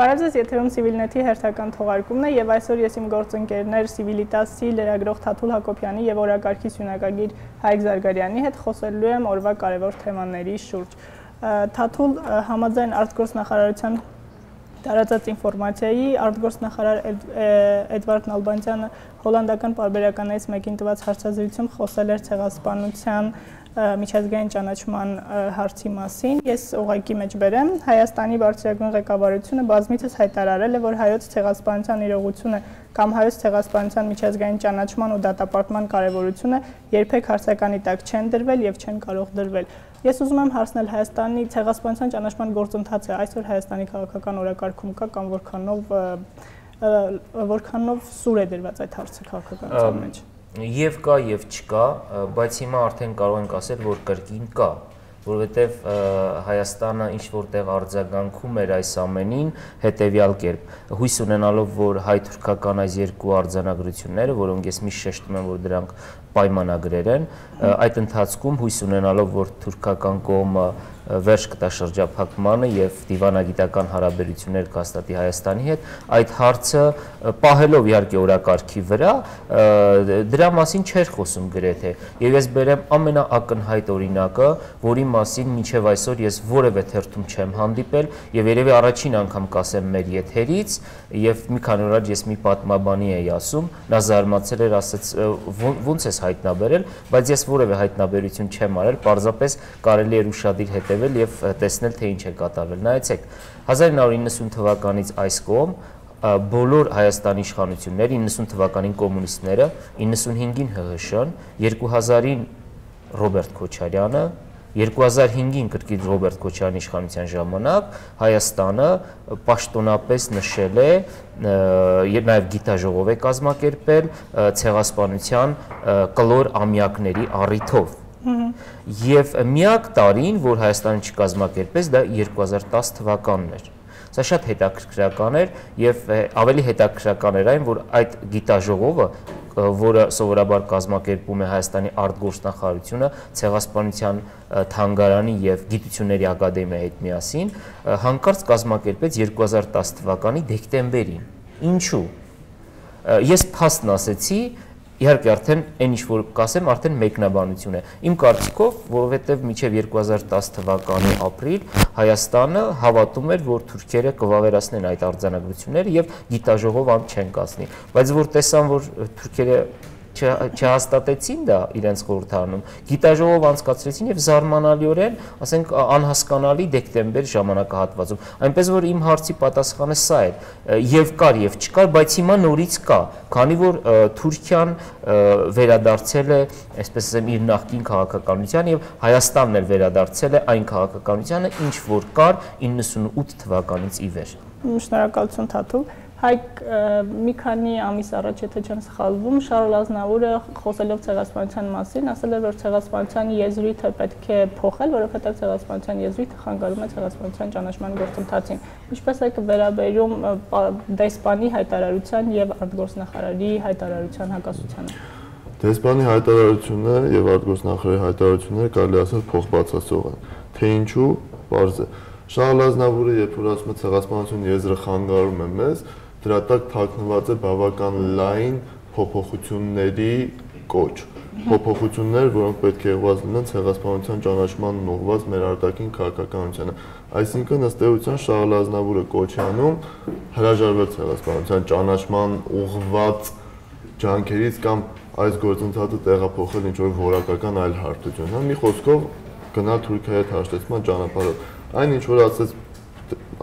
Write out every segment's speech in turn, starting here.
Բարև ձեզ, եթերում Civilnet-ի հերթական թողարկումն է եւ այսօր ես իմ գործընկերներ Civitas-ի լրագրող Թաթուլ Հակոբյանի եւ օրակարգի սյունագագիր Հայկ Զարգարյանի հետ խոսելու եմ օրվա կարևոր թեմաների շուրջ։ Թաթուլ, համաձայն արտգործնախարարության տարածած ինֆորմացիայի, արտգործնախարար Էդվարդ Նալբանդյանը հոլանդական պարբերականներից մեկին տված հարցազրույցում խոսել էր ցեղասպանության միջազգային ճանաչման հարցի մասին։ Ես ուղղակի մեջ բերեմ, Հայաստանի բարձրագույն ղեկավարությունը բազմիցս հայտարարել է, որ հայոց ցեղասպանության իրողությունը կամ հայոց ցեղասպանության միջազգային ճանաչման ու դատապարտման կարևորությունը երբեք հարցականի տակ չեն դրվել եւ չեն կարող դրվել։ Ես ուզում եմ հարցնել Հայաստանի ցեղասպանության ճանաչման գործընթացը այսօր Հայաստանի քաղաքական օրակարգում կա կամ որքանով սուր է դրված այդ հարցը քաղաքականության մեջ։ Եվ կա եւ չկա, բայց հիմա արդեն կարող ենք ասել, որ կրկին կա, որովհետեւ Հայաստանը ինչ որտեղ արձագանքում էր այս ամենին հետեւյալ կերպ, հույս ունենալով, որ հայ-թուրքական այս երկու արձանագրությունները, որոնք ես միշտ շեշտում եմ, որ դրանք պայմանագրեր են, այդ ընթացքում հույս ունենալով, որ թուրքական կողմը վերջ կտա շրջափակմանը եւ դիվանագիտական հարաբերություններ կհաստատի Հայաստանի հետ, այդ հարցը պահելով իհարկե օրակարգի վրա, դրա մասին չէր խոսում գրեթե։ Եվ ես բերեմ ամենաակնհայտ օրինակը, որի մասին մինչև այսօր ես որևէ թերթում չեմ հանդիպել եւ երևի առաջին անգամ կասեմ մեր եթերից եւ մի քանի օր առաջ ես մի պատմաբանի էի ասում, նա զարմացել էր, ասաց ո՞նց ես հայտնաբերել, բայց ես որևէ հայտնաբերություն չեմ արել, պարզապես կարելի էր ուշադիր հետևել եւ տեսնել թե ինչ է կատարվել։ Նայեցեք, 1990 թվականից այս կողմ բոլոր Հայաստանի իշխանությունները, 90 թվականին կոմունիստները, 95-ին ՀՀՇ-ն, 2000-ին Ռոբերտ Քոչարյանը, 2005-ին կրկին Ռոբերտ Քոչարյանի իշխանության ժամանակ Հայաստանը պաշտոնապես նշել է եւ նաեւ գիտաժողով է կազմակերպել ցեղասպանության կլոր ամյակների առիթով։ Եվ միակ տարին, որ Հայաստանը չկազմակերպեց, դա 2010 թվականն էր։ Սա շատ հետաքրքրական էր եւ ավելի հետաքրքրական էր այն, որ այդ գիտաժողովը, որը սովորաբար կազմակերպում է Հայաստանի արտգործնախարարությունը, ցեղասպանության թանգարանի եւ գիտությունների ակադեմիայի հետ միասին, հանկարծ կազմակերպեց 2010 թվականի դեկտեմբերին։ Ինչու՞։ Ես փաստն ասեցի, իհարկե արդեն այն ինչ որ կասեմ արդեն մեկնաբանություն է։ Իմ կարծիքով, որովհետև մինչև 2010 թվականի ապրիլ Հայաստանը հավատում էր, որ թուրքերը կվավերացնեն այդ արձանագրությունները եւ գիտաժողով ամ չեն կազմի։ Բայց որ տեսան, որ թուրքերը չհաստատեցին դա իրենց խորհրդարանում, գիտաժողով անցկացրեցին եւ զարմանալիորեն, ասենք անհասկանալի դեկտեմբեր ժամանակահատվածում։ Այնպես որ իմ հարցի պատասխանը սա է, եւ կար եւ չկար, բայց հիմա նորից կա, քանի որ Թուրքիան վերադարձել է, այսպես ասեմ, իր նախկին քաղաքականության եւ Հայաստանն էլ վերադարձել է այն քաղաքականությանը, ինչ որ կար 98 թվականից ի վեր։ Շնորհակալություն Թաթուլ։ Հայկ մի քանի ամիս առաջ, եթե չեմ սխալվում, Շարլ Ազնավուրը խոսելով ցեղասպանության մասին, ասել էր, որ ցեղասպանության եզրույթը պետք է փոխել, որովհետև ցեղասպանության եզրույթը խանգարում է ցեղասպանության ճանաչման գործընթացին։ Ինչպես է վերաբերում դեսպանի հայտարարության եւ արտգործնախարարի հայտարարության հակասությանը։ Դեսպանի հայտարարությունը եւ արտգործնախարարի հայտարարությունները կարելի ասել փոխբացասող են։ Թե ինչու, պարզ է։ Շարլ Ազնավուրը, երբ որ ասում է ցեղասպանություն եզրը խանգարում է մեզ, դրա տակ թաքնված է բավական լայն փոփոխությունների կոչ։ Փոփոխություններ, որոնք պետք է ուղղված լինեն ցեղասպանության ճանաչմանն ուղղված մեր արտաքին քաղաքականությանը։ Այսինքն ըստ էության Շարլ Ազնավուրը կոչ է անում հրաժարվել ցեղասպանության ճանաչման ուղղված ջանքերից կամ այս գործընթացը տեղափոխել ինչ-որ որակական այլ հարթություն։ Մի խոսքով գնալ Թուրքիայի հետ հաշտեցման ճանապարհով։ Այն ինչ որ ասեց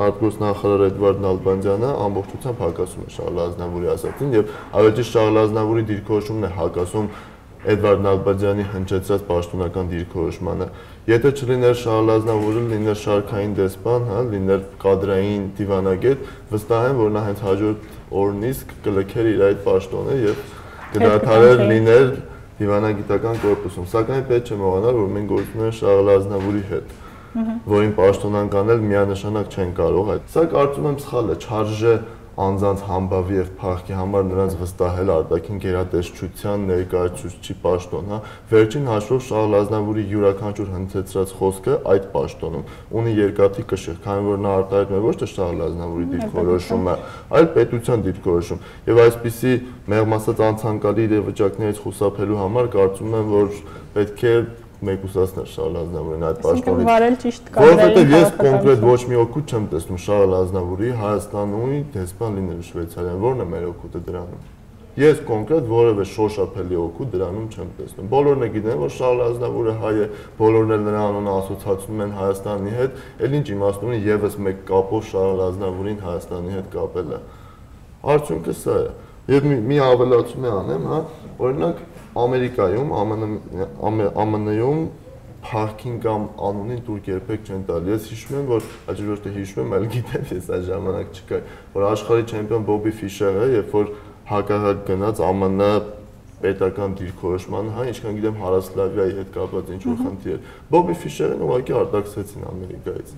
արտգործնախարար Էդվարդ Նալբանդյանը ամբողջությամբ հակասում է Շարլ Ազնավուրի ասածին եւ ավելի ճիշտ Շարլ Ազնավուրի դիրքորոշումն է հակասում Էդվարդ Նալբանդյանի հնչեցրած պաշտոնական դիրքորոշմանը։ Եթե չլիներ Շարլ Ազնավուրը, լիներ շարքային դեսպան, հա, լիներ կադրային դիվանագետ, վստահ եմ, որ նա հենց հաջորդ օրն իսկ կլքեր իր այդ պաշտոնը եւ կդադարեր լիներ դիվանագիտական կորպուսում։ Սակայն պետք չէ մոռանալ, որ մենք գործում ենք Շարլ Ազնավուրի հետ, որին պաշտոնանկ անել միանշանակ չեն կարող այդ։ Սա կարծում եմ սխալ է, չարժե անձանց համբավի եւ փառքի համար նրանց վստահել արտաքին գերատեսչության ներկայացուցչի պաշտոն, հա։ Վերջին հաշվով Շահլ Ազնավուրի յուրաքանչյուր հնչեցրած խոսքը այդ պաշտոնում ունի երկաթի կշիռ, քանի որ նա արտահայտում է ոչ թե Շահլ Ազնավուրի դիրքորոշումը, այլ պետության դիրքորոշում։ Եվ այսպիսի մեղմ ասած անցանկալի իրավիճակներից խուսափելու համար կարծում եմ, որ պետք է մեկուսացնել Շահլ Ազնավուրին այդ պաշտոնից։ Վարել ճիշտ Որովհետև ես կոնկրետ ոչ մի օգուտ չեմ տեսնում Շահլ Ազնավուրի Հայաստանի դեսպան լինելու Շվեյցարիայում, որն է մեր օգուտը դրանում։ Ես կոնկրետ որևէ շոշափելի օգուտ դրանում չեմ տեսնում։ Բոլորն է գիտեն, որ Շահլ Ազնավուրը հայ է, բոլորն էլ նրա անունը ասոցացնում են Հայաստանի հետ, էլ ինչ իմաստ ունի եւս մեկ կապով Շահլ Ազնավուրին Հայաստանի հետ կապելը։ Արդյունքը սա է։ Եվ մի ավելացում անեմ, հա, օրինակ Ամերիկայում, ԱՄՆ-ում փառքին կամ անունին դուր երբեք չեն տալի։ Ես հիշում եմ, որ ոչ թե հիշում եմ, այլ գիտեմ, ես այդ ժամանակ չկա, որ աշխարհի չեմպիոն Բոբի Ֆիշերը, երբ որ հակառակ գնաց ԱՄՆ պետական դիրքորոշման, հա, ինչքան գիտեմ Հարասլավիայի հետ կապված ինչ որ խնդիր էր։ Բոբի Ֆիշերն ուղղակի արտաքսեցին Ամերիկայից։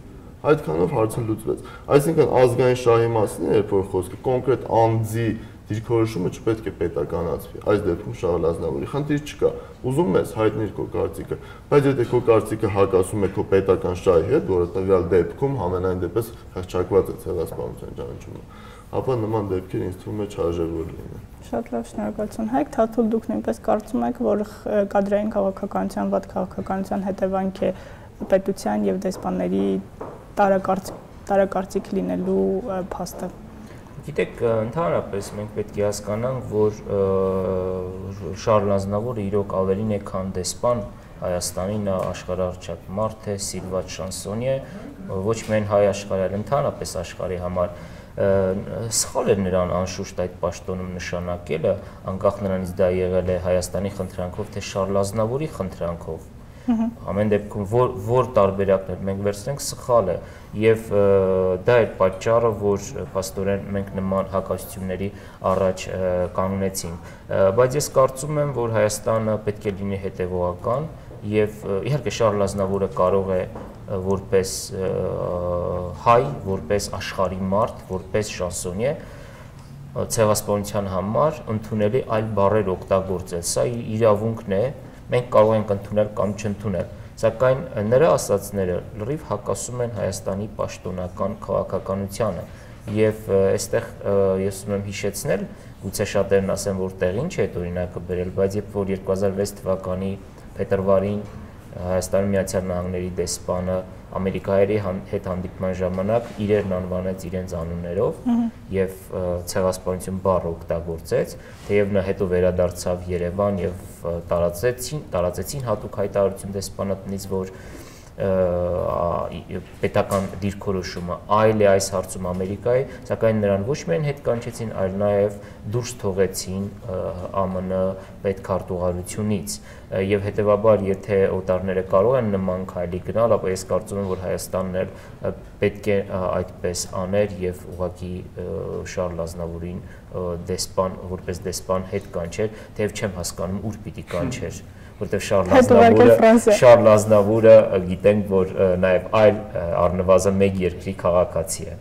Այդքանով հարցը լուծվեց։ Այսինքն ազգային շահի մասին երբ որ խոսքը կոնկրետ անձի դիրքորոշումը չպետք է պետականացվի։ Այս դեպքում Շահլ Ազնավուրի խնդիր չկա։ Ուզում ես հայտնիր քո կարծիքը, բայց եթե քո կարծիքը հակասում է քո պետական շահի հետ, որը տվյալ դեպքում համենայն դեպս հեղափոխված է ցեղասպանության ճանաչումը, ապա նման դեպքեր ինձ թվում է չարժևոր լինեն։ Շատ լավ, շնորհակալություն։ Հայկ Թաթուլ, դուք նույնպես կարծում եք, որ կադրային քաղաքականության, վատ քաղաքականության հետևանք է պետության եւ դեսպանների տարակարծիք լինելու փաստը։ Գիտեք, ընդհանրապես մենք պետք է հասկանանք, որ Շահլ Ազնավուրը իրոք ավելին է, քան դեսպան Հայաստանի, նա աշխարհահռչակ մարդ է, սիրված շանսոնի է, ոչ միայն հայ աշխարհի, այլ ընդհանրապես աշխարհի համար։ Սխալ է նրան անշուշտ այդ պաշտոնում նշանակելը, անկախ նրանից դա եղել է Հայաստանի խնդրանքով, թե Շահլ Ազնավուրի խնդրանքով։ Ամեն դեպքում որ տարբերակներ մենք վերցնենք սխալ է եւ դա է պատճառը, որ փաստորեն մենք նման հակասությունների առաջ կանգնեցինք, բայց ես կարծում եմ, որ Հայաստանը պետք է լինի հետեւողական եւ իհարկե Շահլ Ազնավուրը կարող է որպես հայ, որպես աշխարհի մարդ, որպես շանսոնիե ցեղասպանության համար ընդունելի այլ բառեր օգտագործել, սա իրավունքն է, մենք կարող ենք ընդունել կամ չընդունել, սակայն նրա ասացները լրիվ հակասում են Հայաստանի պաշտոնական քաղաքականությանը եւ այստեղ ես ուզում եմ հիշեցնել, գուցե շատերն ասեն, որ տեղ ինչ է այդ օրինակը բերել, բայց երբ որ 2006 թվականի փետրվարին Հայաստանի Միացյալ Նահանգների դեսպանը Ամերիկայերի հետ հանդիպման ժամանակ իրերն անվանեց իրենց անուններով եւ ցեղասպանություն բառը օգտագործեց, թեև նա հետո վերադարձավ Երևան եւ տարածեցին հատուկ հայտարարություն դեսպանատնից, որ պետական դիրքորոշումը այլ է այս հարցում Ամերիկայի, սակայն նրան ոչ միայն հետ կանչեցին, այլ նաև դուրս թողեցին ԱՄՆ պետքարտուղարությունից եւ հետեւաբար եթե օտարները կարող են նման քայլի գնալ, ապա ես կարծում եմ, որ Հայաստանն էլ պետք է այդպես աներ եւ ուղղակի Շահլ Ազնավուրին որպես դեսպան հետ կանչեր, թեև չեմ հասկանում ուր պիտի կանչեր, որտեղ Շահլ Ազնավուրը գիտենք, որ նաև այլ առնվազն մեկ երկրի քաղաքացի է։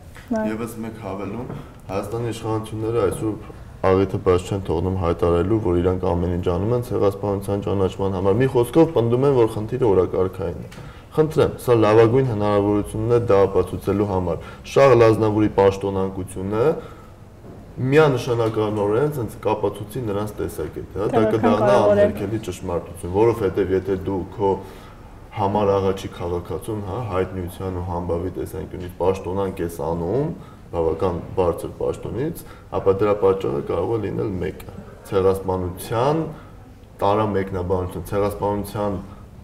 Եվս մեկ հավելում, Հայաստանի իշխանությունները այսօր աղիթը բաց չեն թողնում հայտարարելու, որ իրանք ամեն ինչ անում են ցեղասպանության ճանաչման համար։ Մի խոսքով պնդում են, որ խնդիրը օրակարգային է։ Խնդրեմ, սա լավագույն հնարավորությունն է դա ապացուցելու համար։ Շահլ Ազնավուրի պաշտոնանկությունը միանշանականորեն ցած կապացուցի նրանց տեսակետը, հա, դա կդառնա անհերքելի ճշմարտություն, որովհետև եթե դու քո համար աղաչի քաղաքացուն, հա, հայտնիության ու համբավի տեսանկյունից պաշտոնանկ ես անում, բավական բարձր պաշտոնից, ապա դրա պատճառը կարող է լինել մեկը՝ ցեղասպանության տարամեկնաբանություն, ցեղասպանության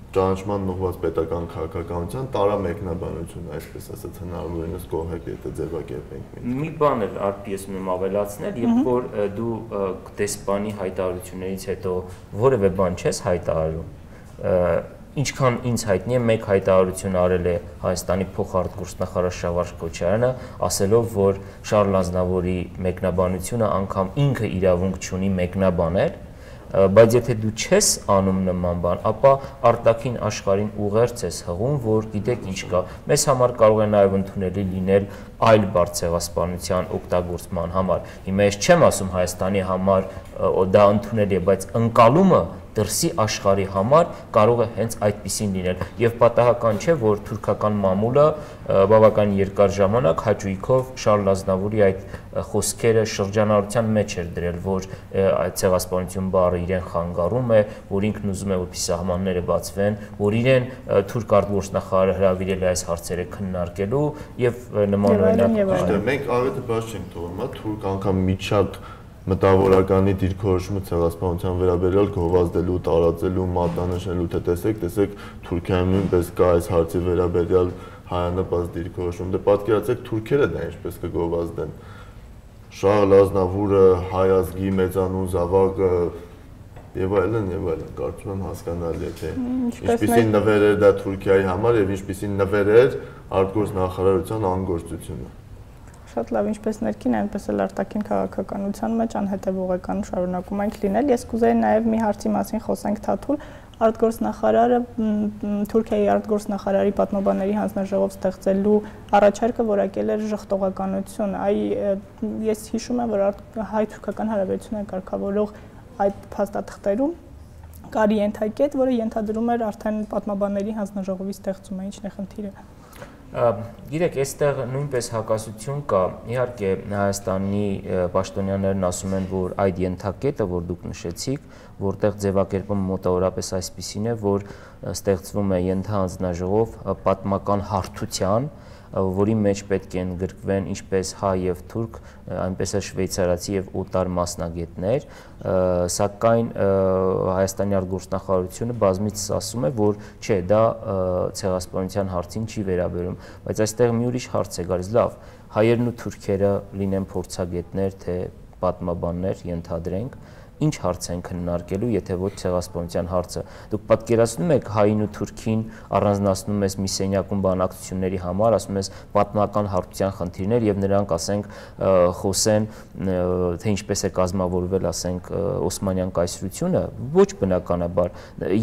ճանաչման ուղղված պետական քաղաքականության տարամեկնաբանություն, այսպես ասած, հնարավորինս կողմեք, եթե ձևակերպենք։ Մի բան էլ ես ուզում ավելացնել, երբ որ դու դեսպանի հայտարարություններից հետո որևէ բան չես հայտարարում, ինչքան ինձ հայտնի է, մեկ հայտարարություն արել է Հայաստանի փոխարտգործնախարար Շավարժ Քոչարյանը, ասելով, որ Շահլ Ազնավուրի մեկնաբանությունը անգամ ինքը իրավունք չունի մեկնաբանել, բայց եթե դու չես անում նման բան, ապա արտաքին աշխարհին ուղերձ ես հղում, որ գիտեք ինչ կա։ Մեզ համար կարող է նաև ընդունելի լինել այլ բարձ ցեղասպանության օգտագործման համար։ Հիմա ես չեմ ասում Հայաստանի համար դա ընդունելի է, բայց ընկալումը դրսի աշխարհի համար կարող է հենց այդպիսին լինել եւ պատահական չէ որ թուրքական մամուլը բավական երկար ժամանակ հաճույքով Շարլ Ազնավուրի այդ խոսքերը շրջանառության մեջ էր դրել որ այդ ցեղասպանություն բառը իրեն խանգարում է որ ինքն ուզում է որպեսզի սահմանները բացվեն որ իրեն թուրք արտգործնախարարը հրավիրել է այս հարցերը քննարկելու եւ նման օրինակ մենք առիթը բաց չենք թողնում թուրք անգամ միջակ մտավորականի դիրքորոշումը ցեղասպանության վերաբերյալ գովազդելու, տարածելու, մատնանշելու, թե տեսեք Թուրքիայում նույնպես կա այս հարցի վերաբերյալ հայանպաստ դիրքորոշում։ Դե պատկերացեք թուրքերը դա ինչպես կգովազդեն։ Շարլ Ազնավուրը, հայ ազգի մեծանուն զավակը եւ այլն, կարծում եմ հասկանալի է թե ինչպիսին նվեր էր դա Թուրքիայի համար եւ ինչպիսին նվեր էր արտգործնախարարության անգործությունը։ Շատ լավ, ինչպես ներքին, այնպես էլ արտաքին քաղաքականության մեջ անհետևողական շարունակում ենք լինել։ Ես կուզեի նաև մի հարցի մասին խոսենք Թաթուլ, արտգործնախարարը Թուրքիայի արտգործնախարարի պատմաբանների հանձնաժողով ստեղծելու առաջարկը որակել էր ժխտողականություն։ Ես հիշում եմ, որ հայ-թուրքական հարաբերությունները կարգավորող այդ փաստաթղթերում կար ենթակետ, որը ենթադրում էր արդեն պատմաբանների հանձնաժողովի ստեղծումը, ինչն է խնդիրը։ Գիտեք, այստեղ նույնպես հակասություն կա, իհարկե Հայաստանի պաշտոնյաներն ասում են, որ այդ ենթակետը, որ դուք նշեցիք, որտեղ ձևակերպումը մոտավորապես այսպիսին է, որ ստեղծվում է ենթահանձնաժողով պատմական հարթության, որի մեջ պետք է ընդգրկվեն ինչպես հայ եւ թուրք, այնպես էլ շվեյցարացի եւ օտար մասնագետներ, սակայն Հայաստանի արտգործնախարարությունը բազմիցս ասում է, որ չէ, դա ցեղասպանության հարցին չի վերաբերում, բայց այստեղ մի ուրիշ հարց է գալիս, լավ, հայերն ու թուրքերը լինեն փորձագետներ, թե պատմաբաններ, ենթադրենք, ինչ հարց են քննարկելու, եթե ոչ ցեղասպանության հարցը։ Դուք պատկերացնում եք հային ու թուրքին առանձնացնում ես մի սենյակում բանակցությունների համար, ասում ես պատմական հարթության խնդիրներ եւ նրանք ասենք խոսեն, թե ինչպես է կազմավորվել, ասենք Օսմանյան կայսրությունը, ոչ բնականաբար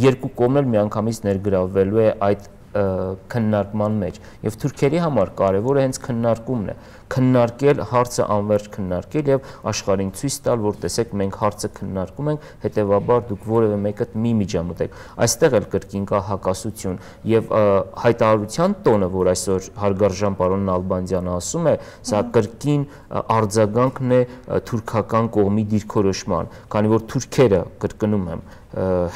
երկու կողմն էլ միանգամից ներգրավվելու է այդ քննարկման մեջ եւ թուրքերի համար կարեւորը հենց քննարկումն է քննարկել հարցը անverջ քննարկել եւ աշխարհին ցույց տալ որ տեսեք մենք հարցը քննարկում ենք հետեւաբար դուք որևէ մեկը մի միջամտեք այստեղ էլ կրկին կա հակասություն եւ հայտարարության տոնը որ այսօր հարգարժան պարոն Նալբանդյանը ասում է սա կրկին արձագանքն է թուրքական կողմի դիրքորոշման քանի որ թուրքերը կրկնում եմ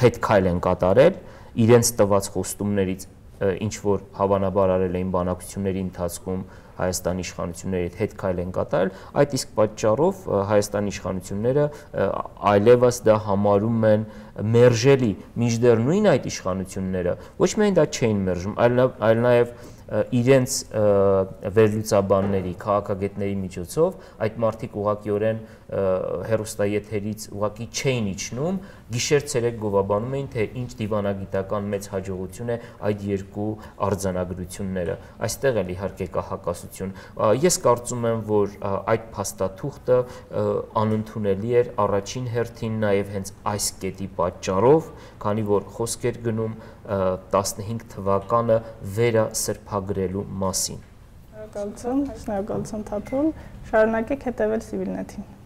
հետ քայլ են կատարել իրենց տված խոստումներից ինչ որ հավանաբար արել էին բանակցությունների ընթացքում Հայաստանի իշխանությունների հետ քայլ են կատարել, այդ իսկ պատճառով Հայաստանի իշխանությունները այլևս դա համարում են մերժելի, մինչդեռ նույն այդ իշխանությունները ոչ միայն դա չէին մերժում, այլ նաև իրենց վերլուծաբանների, քաղաքագետների միջոցով այդ մարդիկ ուղղակիորեն հեռուստաեթերից ուղղակի չէին իջնում, գիշեր-ցերեկ գովաբանում էին, թե ինչ դիվանագիտական մեծ հաջողություն է այդ երկու արձանագրությունները։ Այստեղ էլ իհարկե կա հակասություն։ Ես կարծում եմ, որ այդ փաստաթուղթը անընդունելի էր առաջին հերթին նաև հենց այս կետի պատճառով, քանի որ խոսք էր գնում 15 թվականը վերասրբագրելու մասին։ Շնորհակալություն Թաթուլ, շարունակեք հետևել Civilnet-ին։